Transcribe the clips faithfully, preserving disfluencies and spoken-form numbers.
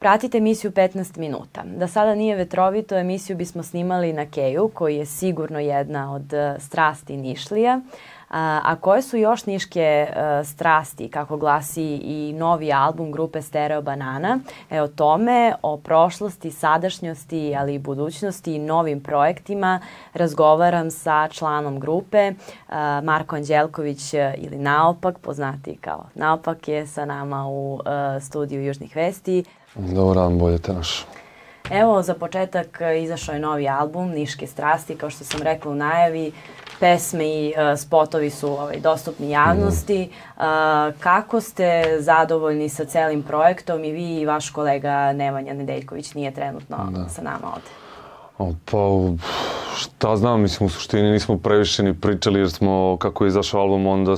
Pratite emisiju petnaest minuta. Da sada nije vetrovito, emisiju bismo snimali na Keju, koji je sigurno jedna od strasti Nišlija. A koje su još niške strasti, kako glasi i novi album grupe Stereo Banana? E o tome, o prošlosti, sadašnjosti, ali i budućnosti i novim projektima razgovaram sa članom grupe. Marko Anđelković ili Naopak, poznati kao Naopak, je sa nama u studiju Južnih vesti. Dobar dan, bolje te naš. Evo, za početak izašao je novi album Niške strasti, kao što sam rekla u najavi. Pesme i uh, spotovi su ovaj, dostupni javnosti. Uh, kako ste zadovoljni sa celim projektom i vi i vaš kolega Nemanja Nedeljković nije trenutno da. sa nama ovde? O, pa, šta znam, mislim, u suštini nismo previše ni pričali jer smo, kako je izašao album, onda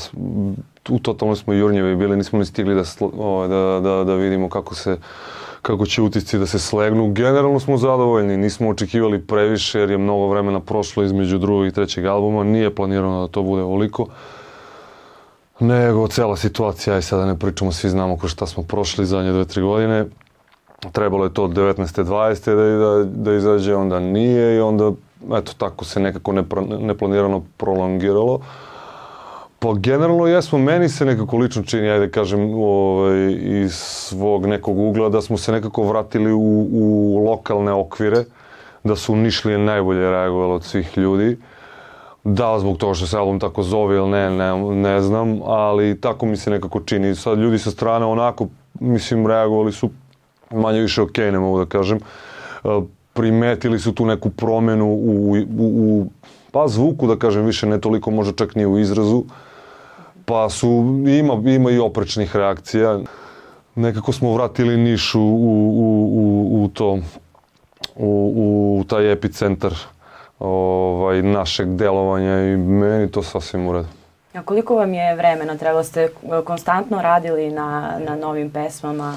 u totalno smo jurnjevi bili, nismo ni stigli da, o, da, da, da vidimo kako se kako će utisci da se slegnu. Generalno smo zadovoljni, nismo očekivali previše jer je mnogo vremena prošlo između drugog i trećeg albuma, nije planirano da to bude ovoliko. Nego cela situacija, aj sada ne pričamo, svi znamo ko šta smo prošli zadnje dve, tri godine. Trebalo je to od devetnaeste dvadesete da, da, da izađe, onda nije i onda eto tako se nekako neplanirano prolongiralo. Pa generalno jesmo, meni se nekako lično čini, ajde kažem, ovaj, iz svog nekog ugla, da smo se nekako vratili u, u lokalne okvire, da su Nišlije najbolje reagovali od svih ljudi. Da, zbog toga što se album tako zove ili ne, ne, ne znam, ali tako mi se nekako čini. Sad ljudi sa strane onako, mislim, reagovali su manje više okej, ne mogu da kažem. Primetili su tu neku promenu u, u, u pa zvuku, da kažem, više ne toliko, možda čak nije u izrazu. Pa su, ima, ima i oprečnih reakcija. Nekako smo vratili Niš u, u, u, u to, u, u taj epicentar ovaj, našeg delovanja i meni to sasvim u redu. A koliko vam je vremena? Trebalo ste konstantno radili na, na novim pesmama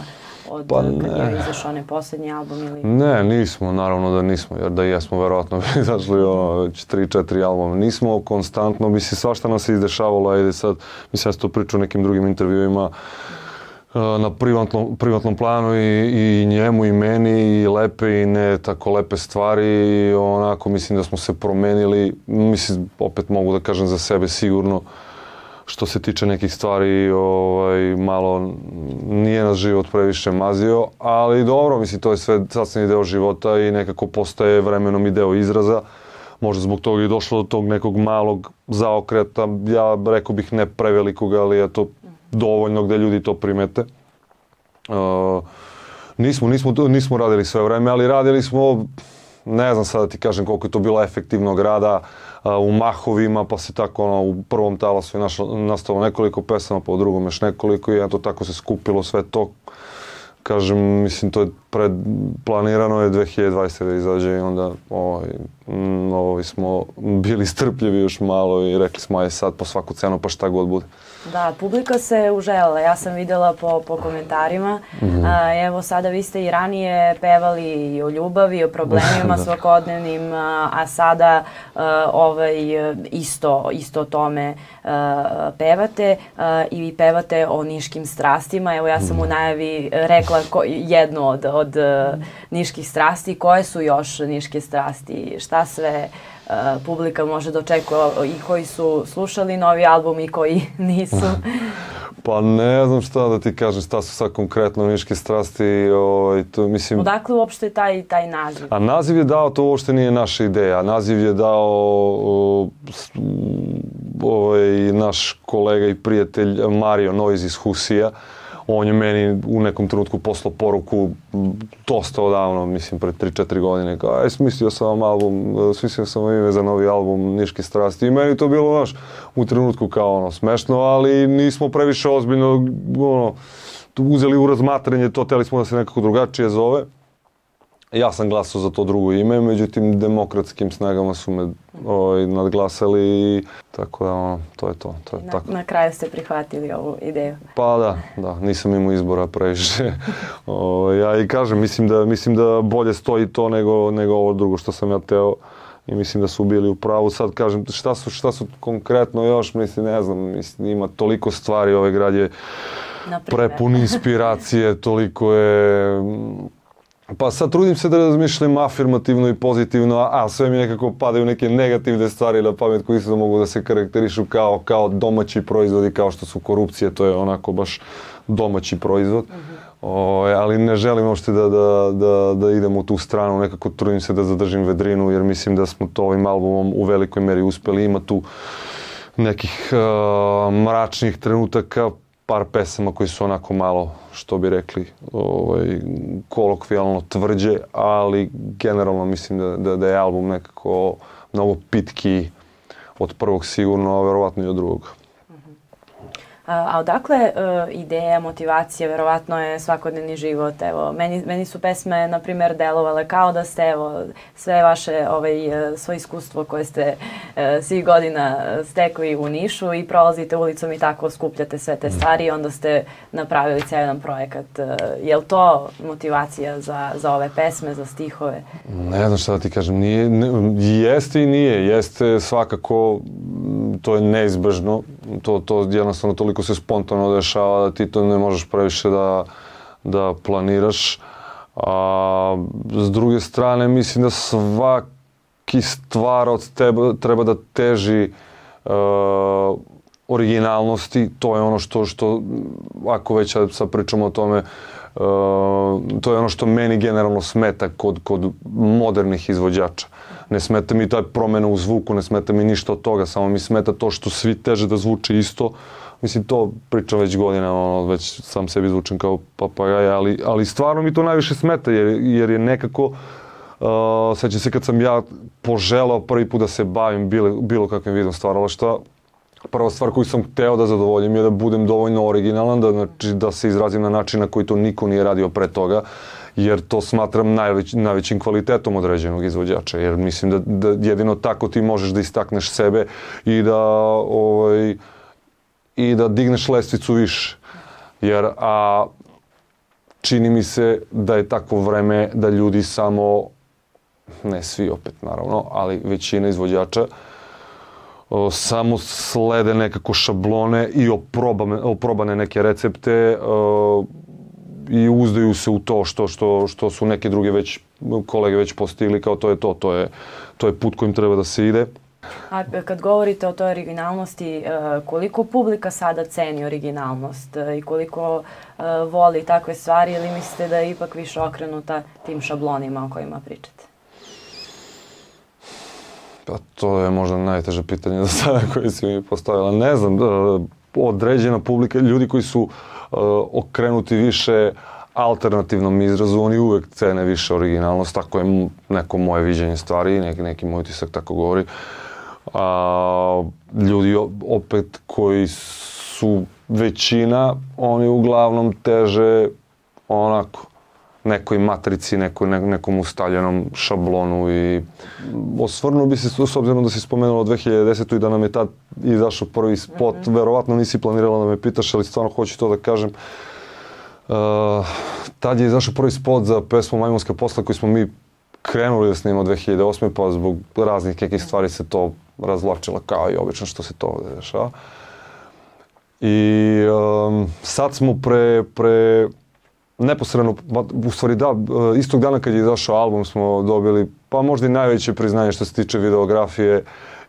od pa kad je izašao onaj posljednji album? Ili... Ne, nismo, naravno da nismo, jer da jesmo, verovatno bi izašli ono, već tri, četiri albuma. Nismo konstantno, mislim, svašta nas se izdešavalo, ajde sad, mislim, ja sam to pričao u nekim drugim intervjuima, na privatnom, privatnom planu i, i njemu i meni i lepe i ne tako lepe stvari i onako mislim da smo se promenili, mislim, opet mogu da kažem za sebe sigurno, što se tiče nekih stvari, ovaj, malo nije nas život previše mazio, ali dobro, mislim, to je sve sasvim deo života i nekako postaje vremenom i deo izraza. Možda zbog toga i došlo do tog nekog malog zaokreta, ja rekao bih ne prevelikog, ali je to dovoljno gde ljudi to primete. Uh, nismo, nismo, nismo radili sve vreme, ali radili smo, ne znam sad da ti kažem koliko je to bilo efektivnog rada, u mahovima, pa se tako ono, u prvom talasu je našlo, nastalo nekoliko pesama, pa u drugom još nekoliko i eto tako se skupilo sve to. Kažem, mislim, to je pred, planirano je dve hiljade dvadesete da izađe i onda ovaj, m, ovaj smo bili strpljivi još malo i rekli smo aj sad po svaku cenu pa šta god bude. Da, publika se uželjela, ja sam videla po, po komentarima. Mm-hmm. A, evo sada vi ste i ranije pevali i o ljubavi, o problemima svakodnevnim, a, a sada a, ovaj, isto, isto o tome a, pevate a, i vi pevate o niškim strastima. Evo ja sam u najavi rekla ko, jednu od, od a, niških strasti. Koje su još niške strasti? Šta sve Uh, publika može da očekuje i koji su slušali novi album i koji nisu? Pa ne znam šta da ti kažem, šta su sad konkretno niške strasti. Ovaj, to, mislim... Odakle uopšte taj, taj naziv? A naziv je dao, to uopšte nije naša ideja. Naziv je dao o, ovaj, naš kolega i prijatelj Mario Noiz iz Husija. On je meni u nekom trenutku poslao poruku dosta odavno, mislim pred tri četiri godine, kao aj smislio sam vam album, smislio sam vam ime za novi album Niške strasti i meni to bilo naš u trenutku kao ono smešno, ali nismo previše ozbiljno ono, uzeli u razmatranje to, teli smo da se nekako drugačije zove. Ja sam glasao za to drugo ime, međutim demokratskim snagama su me ovaj, nadglasali i tako da ono, to je to. to je na, tako. Na kraju ste prihvatili ovu ideju. Pa da, da, nisam imao izbora previše. o, ja i kažem, mislim da, mislim da bolje stoji to nego, nego ovo drugo što sam ja teo i mislim da su bili u pravu. Sad kažem, šta su, šta su konkretno još, mislim, ne znam, mislim, ima toliko stvari, ovaj grad je prepun inspiracije, toliko je... Pa sad trudim se da razmišljam afirmativno i pozitivno, a, a sve mi nekako padaju neke negativne stvari na pamet koji isto mogu da se karakterišu kao, kao domaći proizvodi, kao što su korupcije, to je onako baš domaći proizvod. Mm-hmm. O, ali ne želim uopšte da, da, da, da idem u tu stranu, nekako trudim se da zadržim vedrinu, jer mislim da smo to ovim albumom u velikoj meri uspeli. Ima tu nekih uh, mračnih trenutaka, par pesama koji su onako malo, što bi rekli, ovaj, kolokvijalno tvrđe, ali generalno mislim da, da, da je album nekako mnogo pitki od prvog sigurno, a verovatno i od drugog. A, a odakle uh, ideja, motivacija, verovatno je svakodnevni život, evo, meni, meni su pesme, na primjer, delovale kao da ste, evo, sve vaše, ovaj, svoje iskustvo koje ste uh, svih godina stekli u Nišu i prolazite ulicom i tako skupljate sve te stvari i onda ste napravili cijel jedan projekat. Uh, je li to motivacija za, za ove pesme, za stihove? Ne znam šta da ti kažem, nije, ne, jeste i nije, jeste svakako, to je neizbežno, to, to jednostavno toliko se spontano dešava da ti to ne možeš previše da, da planiraš. A, s druge strane, mislim da svaki stvar od tebe treba da teži uh, originalnosti. To je ono što, što ako već sad pričamo o tome, uh, to je ono što meni generalno smeta kod, kod modernih izvođača. Ne smeta mi taj promjena u zvuku, ne smeta mi ništa od toga, samo mi smeta to što svi teže da zvuče isto. Mislim, to pričam već godinama, ono, već sam sebi zvučem kao papagaj, ali, ali stvarno mi to najviše smeta, jer, jer je nekako, uh, sećam se kad sam ja poželao prvi put da se bavim bilo, bilo kakvim vidom stvaralaštva, prva stvar koju sam hteo da zadovoljim je da budem dovoljno originalan, da, znači, da se izrazim na način na koji to niko nije radio pre toga, jer to smatram najveć, najvećim kvalitetom određenog izvođača, jer mislim da, da jedino tako ti možeš da istakneš sebe i da, ovaj, i da digneš lestvicu više. Jer a, čini mi se da je takvo vreme da ljudi samo, ne svi opet naravno, ali većina izvođača, o, samo slede nekako šablone i oprobane, oprobane neke recepte, o, i uzdaju se u to što, što, što su neke druge već, kolege već postigli, kao to je to, to je, to je put kojim treba da se ide. A kad govorite o toj originalnosti, koliko publika sada ceni originalnost i koliko voli takve stvari, ili mislite da je ipak više okrenuta tim šablonima o kojima pričate? Pa to je možda najteže pitanje do sada koje si mi postavila. Ne znam, određena publika, ljudi koji su okrenuti više alternativnom izrazu, oni uvek cene više originalnost, tako je neko moje viđenje stvari, neki, neki moj utisak tako govori. A, ljudi opet koji su većina, oni uglavnom teže onako nekoj matrici, nekoj, ne, nekom ustaljenom šablonu i osvrnuo bi se, s obzirom da si spomenula dve hiljade desete. i da nam je tad izašao prvi spot, mm-hmm. verovatno nisi planirala da me pitaš, ali stvarno hoću to da kažem. Uh, tad je izašao prvi spot za pesmu Majmunska posla koji smo mi krenuli da snimamo dve hiljade osme. pa zbog raznih nekih stvari se to razvlačilo kao i obično što se to ovdje dešava. I um, sad smo pre, pre neposredno, u stvari da, istog dana kad je izašao album smo dobili pa možda i najveće priznanje što se tiče videografije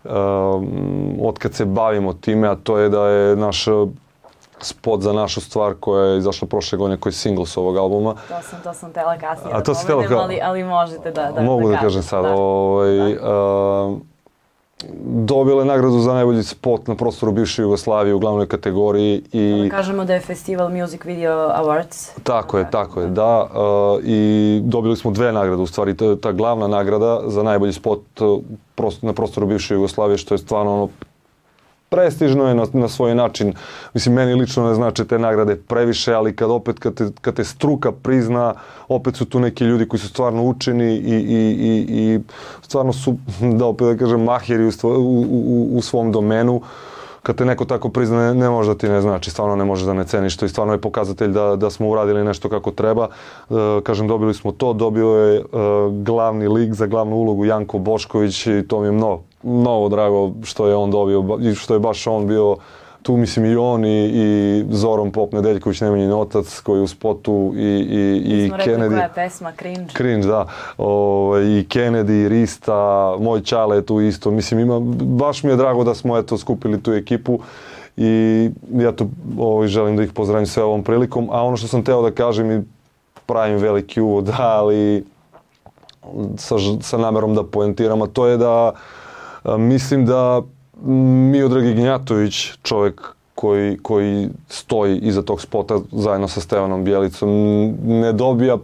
um, od kad se bavimo time, a to je da je naš spot za našu stvar koja je izašla prošle godine, koji je single s ovog albuma. To sam, to sam tela kasnije a da povedem, tela... ali, ali možete da, da, Mogu da, da kažem sada. Da. Ovaj, da. Uh, dobila je nagradu za najbolji spot na prostoru bivše Jugoslavije u glavnoj kategoriji. I da kažemo da je Festival Music Video Awards. Tako je, tako je, da. Uh, I dobili smo dve nagrade, u stvari ta, ta glavna nagrada za najbolji spot na prostoru bivše Jugoslavije, što je stvarno ono prestižno je na, na svoj način. Mislim, meni lično ne znači te nagrade previše, ali kad opet, kad te, kad te struka prizna, opet su tu neki ljudi koji su stvarno učeni i, i, i, i stvarno su, da opet da kažem, mahiri u, u, u, u svom domenu. Kad te neko tako prizna, ne, ne može da ti ne znači, stvarno ne može da ne ceniš to i stvarno je pokazatelj da, da smo uradili nešto kako treba. E, kažem, dobili smo to, dobio je e, glavni lik za glavnu ulogu Janko Bošković i to mi je mnogo, mnogo drago što je on dobio i što je baš on bio tu mislim i on i, i Zoran Pop Nedeljković, Nemanjin otac koji je u spotu i, i, i Kennedy. Rekli koja je pesma, Cringe. Cringe, da. O, i Kennedy, i Rista, moj Čale je tu isto. Mislim, ima, baš mi je drago da smo eto skupili tu ekipu i ja to o, želim da ih pozdravim sve ovom prilikom. A ono što sam teo da kažem i pravim veliki uvod, ali sa, sa namerom da poentiram, a to je da a, mislim da Miodrag Ignjatović, čovjek koji, koji stoji iza tog spota zajedno sa Stevanom Bjelicom, ne dobija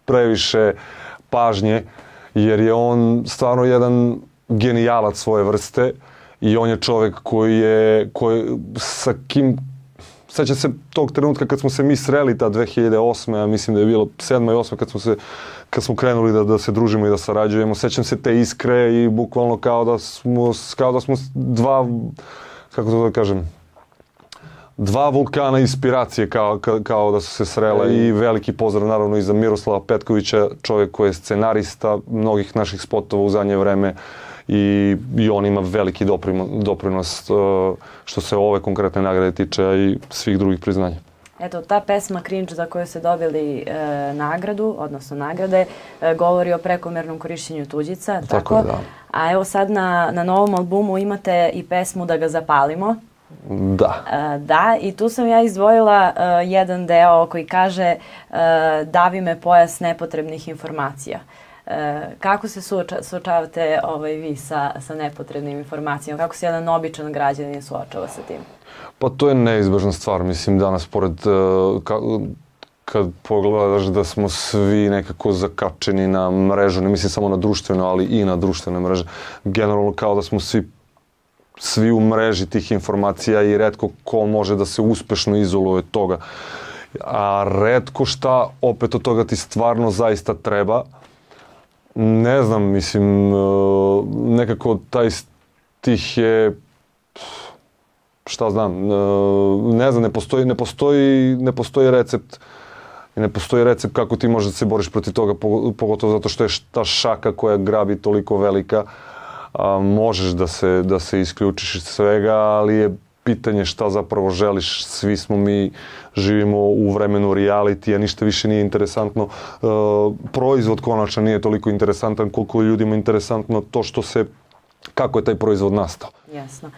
previše pažnje jer je on stvarno jedan genijalac svoje vrste i on je čovjek koji je, koji, sa kim, sećam se tog trenutka kad smo se mi sreli ta dve hiljade osme, a mislim da je bilo sedma i osma kad smo se kad smo krenuli da, da se družimo i da sarađujemo, sećam se te iskre i bukvalno kao da smo, kao da smo dva, kako to da kažem, dva vulkana inspiracije kao, kao, kao da su se srele i veliki pozdrav naravno i za Miroslava Petkovića, čovjek koji je scenarista mnogih naših spotova u zadnje vreme i, i on ima veliki doprinos, doprinos što se ove konkretne nagrade tiče i svih drugih priznanja. Eto, ta pesma Cringe za koju ste dobili e, nagradu, odnosno nagrade, e, govori o prekomjernom korišćenju tuđica, tako? Tako je, da. A evo sad na, na novom albumu imate i pesmu Da ga zapalimo. Da. E, da, i tu sam ja izdvojila e, jedan deo koji kaže e, davi me pojas nepotrebnih informacija. E, kako se suoča, suočavate ovaj, vi sa, sa nepotrebnim informacijama? Kako se jedan običan građanin suočava sa tim? Pa to je neizbežna stvar, mislim danas pored, uh, ka, kad pogledaš da smo svi nekako zakačeni na mrežu, ne mislim samo na društveno, ali i na društvene mreže, generalno kao da smo svi, svi u mreži tih informacija i retko ko može da se uspešno izoluje od toga. A retko šta opet od toga ti stvarno zaista treba. Ne znam, mislim, uh, nekako taj stih je, šta znam, ne znam, ne postoji, ne postoji, ne postoji recept i ne postoji recept kako ti možeš da se boriš protiv toga, pogotovo zato što je ta šaka koja grabi toliko velika, a, možeš da se, da se isključiš iz svega, ali je pitanje šta zapravo želiš. Svi smo mi, živimo u vremenu realitija, ništa više nije interesantno. E, proizvod konačno nije toliko interesantan koliko je ljudima interesantno to što se, kako je taj proizvod nastao. Jasno.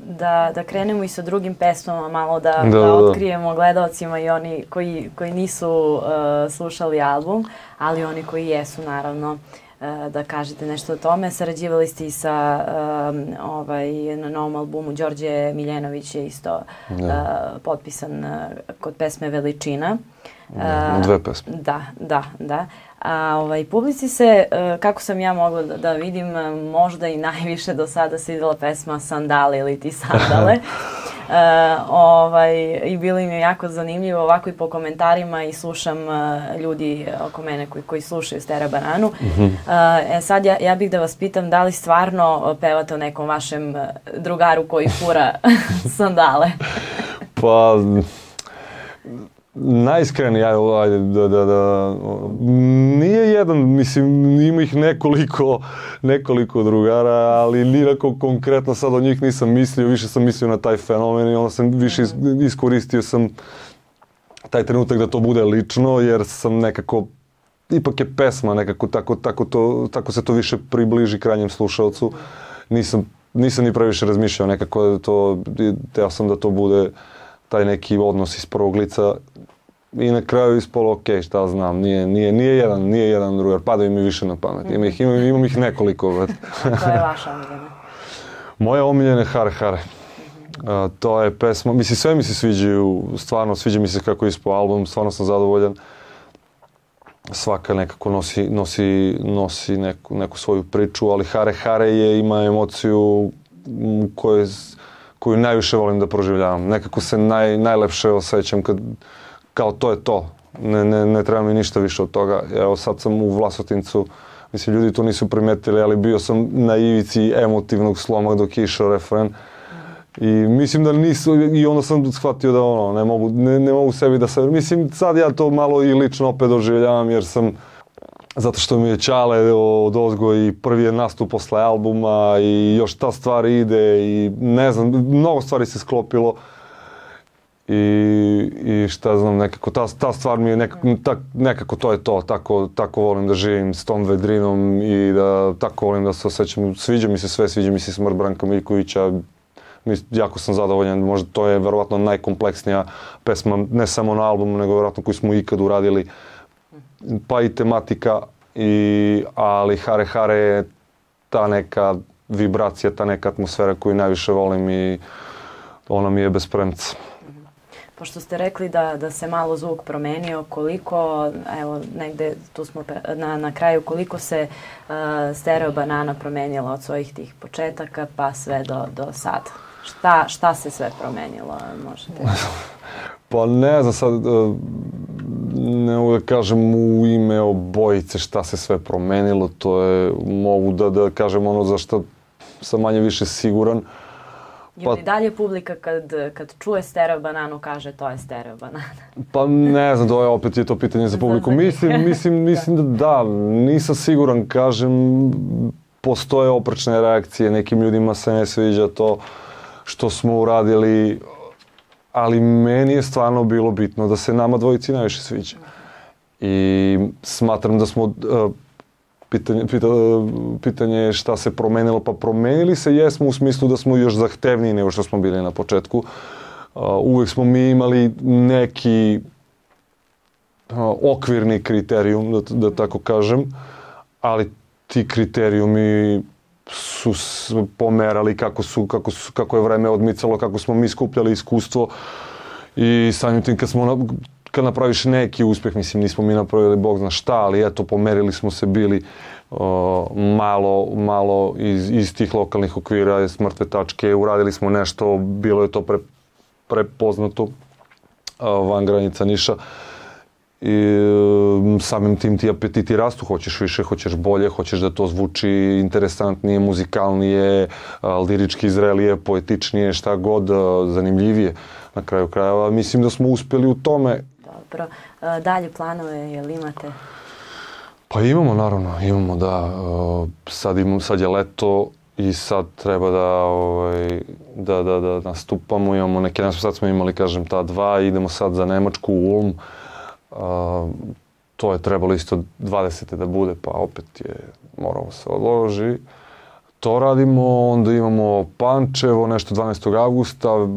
Da, da krenemo i sa drugim pesmama, malo da, da, da, da otkrijemo gledalcima i oni koji, koji nisu uh, slušali album, ali oni koji jesu, naravno, uh, da kažete nešto o tome. Sarađivali ste i sa um, ovaj, na novom albumu Đorđe Miljenović je isto uh, potpisan uh, kod pesme Veličina. Uh, Dve pesme. Da, da, da. A ovaj, publici se, kako sam ja mogla da, da vidim, možda i najviše do sada svidjela pesma Sandale ili ti sandale. e, ovaj, I bilo im je jako zanimljivo ovako i po komentarima i slušam uh, ljudi oko mene koji, koji slušaju Stera Bananu. Mm-hmm. uh, e, sad ja, ja bih da vas pitam da li stvarno pevate o nekom vašem drugaru koji fura sandale? Pa... Najiskreniji, ajde, da, da, da, nije jedan, mislim, ima ih nekoliko, nekoliko drugara, ali nikako konkretno sad od njih nisam mislio, više sam mislio na taj fenomen i onda sam više iskoristio sam taj trenutak da to bude lično, jer sam nekako, ipak je pesma nekako, tako, tako, to, tako se to više približi krajnjem slušalcu. Nisam, nisam ni previše razmišljao nekako da to, teo sam da to bude taj neki odnos iz prvog lica i na kraju ispolo, ok, šta znam, nije, nije, nije jedan, nije jedan drugar, padaju mi više na pamet, imam ih, imam, imam ih nekoliko. Koja je vaša omiljena? Moja omiljena je Hare Hare. Mm-hmm. A, to je pesma, mislim, sve mi se sviđaju, stvarno sviđa mi se kako je ispao album, stvarno sam zadovoljan. Svaka nekako nosi, nosi, nosi neku, neku svoju priču, ali Hare Hare je, ima emociju koju, koju najviše volim da proživljavam. Nekako se naj, najlepše osjećam kad, kao to je to. Ne, ne, ne treba mi ništa više od toga. Evo sad sam u Vlasotincu, mislim ljudi to nisu primetili, ali bio sam na ivici emotivnog sloma dok je išao refren. I mislim da nisu, i onda sam shvatio da ono, ne mogu, ne, ne mogu sebi da se, mislim sad ja to malo i lično opet doživljavam jer sam zato što mi je Ćale od ozgo i prvi je nastup posle albuma i još ta stvar ide i ne znam, mnogo stvari se sklopilo i, i šta znam, nekako ta, ta stvar mi je nekako, tak, nekako to je to, tako, tako volim da živim s tom vedrinom i da tako volim da se osjećam, sviđa mi se sve, sviđa mi se smrt Branka Miljkovića, jako sam zadovoljan, možda to je verovatno najkompleksnija pesma, ne samo na albumu, nego verovatno koju smo ikad uradili, pa i tematika, i, ali Hare Hare je ta neka vibracija, ta neka atmosfera koju najviše volim i ona mi je bez premca. Pošto ste rekli da, da se malo zvuk promenio, koliko, evo negde tu smo na, na kraju, koliko se uh, Stereo Banana promenila od svojih tih početaka pa sve do, do sada? Šta, šta se sve promenilo, možete? Pa ne znam sad, ne mogu da kažem u ime obojice šta se sve promenilo, to je, mogu da, da kažem ono za što sam manje više siguran. Pa, ili dalje publika kad, kad čuje Stereo Bananu kaže to je Stereo Banana? Pa ne znam, to je opet je to pitanje za publiku. Mislim, mislim, mislim da da, nisam siguran, kažem, postoje oprečne reakcije, nekim ljudima se ne sviđa to što smo uradili, ali meni je stvarno bilo bitno da se nama dvojici najviše sviđa. I smatram da smo, pitanje, pita, pitanje je šta se promenilo, pa promenili se jesmo u smislu da smo još zahtevniji nego što smo bili na početku. Uvek smo mi imali neki okvirni kriterijum, da, da tako kažem, ali ti kriterijumi su pomerali kako, su, kako, su, kako je vreme odmicalo, kako smo mi skupljali iskustvo i samim tim kad, smo, kad napraviš neki uspjeh, mislim nismo mi napravili Bog zna šta, ali eto pomerili smo se bili uh, malo, malo iz, iz tih lokalnih okvira, s mrtve tačke, uradili smo nešto, bilo je to pre, prepoznato uh, van granica Niša. I samim tim ti apetiti rastu, hoćeš više, hoćeš bolje, hoćeš da to zvuči interesantnije, muzikalnije, lirički zrelije, poetičnije, šta god, zanimljivije na kraju krajeva. Mislim da smo uspjeli u tome. Dobro. Dalje planove, jel imate? Pa imamo, naravno, imamo da. Sad, imam, sad je leto i sad treba da, ovaj, da, da, da nastupamo. Imamo neke, sad smo imali, kažem, ta dva, idemo sad za Nemačku u Ulm. Uh, to je trebalo isto dvadesete da bude, pa opet je moralo se odloži. To radimo, onda imamo Pančevo, nešto dvanaestog avgusta, uh,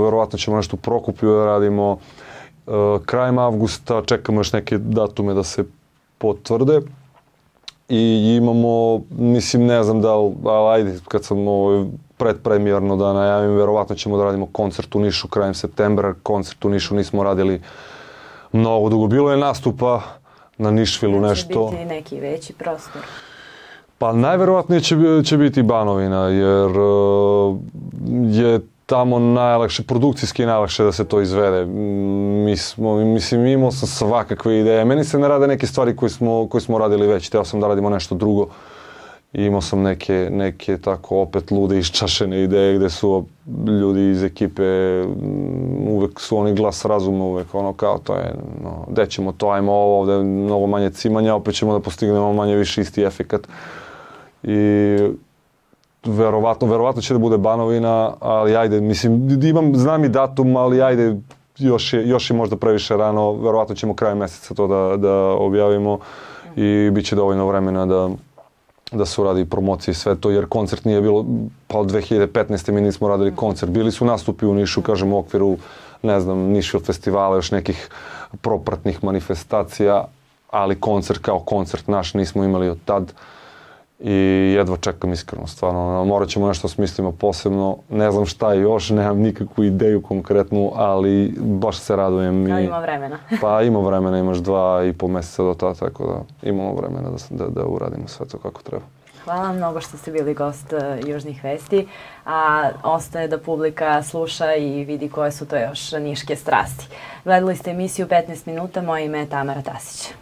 verovatno ćemo nešto u Prokupju da radimo. Uh, krajem avgusta čekamo još neke datume da se potvrde. I imamo, mislim, ne znam da li, ali ajde, kad sam ovo predpremijerno da najavim, verovatno ćemo da radimo koncert u Nišu krajem septembra. Koncert u Nišu nismo radili mnogo dugo. Bilo je nastupa na Nišvilu nešto. Će biti neki veći prostor? Pa najverovatnije će, će biti Banovina, jer uh, je tamo najlakše, produkcijski najlakše da se to izvede. Mi smo, mislim, imao sam svakakve ideje. Meni se ne rade neke stvari koje smo, koje smo radili već. Htio sam da radimo nešto drugo. I imao sam neke, neke tako opet lude iščašene ideje gdje su ljudi iz ekipe, uvek su oni glas razuma, uvek ono kao to je, no, gde ćemo to, ajmo ovo, ovdje je mnogo manje cimanja, opet ćemo da postignemo manje više isti efekat. I verovatno, verovatno će da bude Banovina, ali ajde, mislim, imam, znam i datum, ali ajde, još je, još je možda previše rano, verovatno ćemo krajem mjeseca to da, da objavimo i bit će dovoljno vremena da da se uradi promocije i sve to, jer koncert nije bilo, pa od dve hiljade petnaeste. mi nismo radili koncert. Bili su nastupi u Nišu, kažem, u okviru, ne znam, Nišvil festivala, još nekih propratnih manifestacija, ali koncert kao koncert naš nismo imali od tad i jedva čekam iskreno, stvarno. Morat ćemo nešto smislimo posebno, ne znam šta je još, nemam nikakvu ideju konkretnu, ali baš se radujem. Ali ima vremena. Pa ima vremena, imaš dva i pol mjeseca do tada, tako da imamo vremena da, da, da uradimo sve to kako treba. Hvala vam mnogo što ste bili gost uh, Južnih vesti, a ostaje da publika sluša i vidi koje su to još niške strasti. Gledali ste emisiju petnaest minuta, moje ime je Tamara Tasić.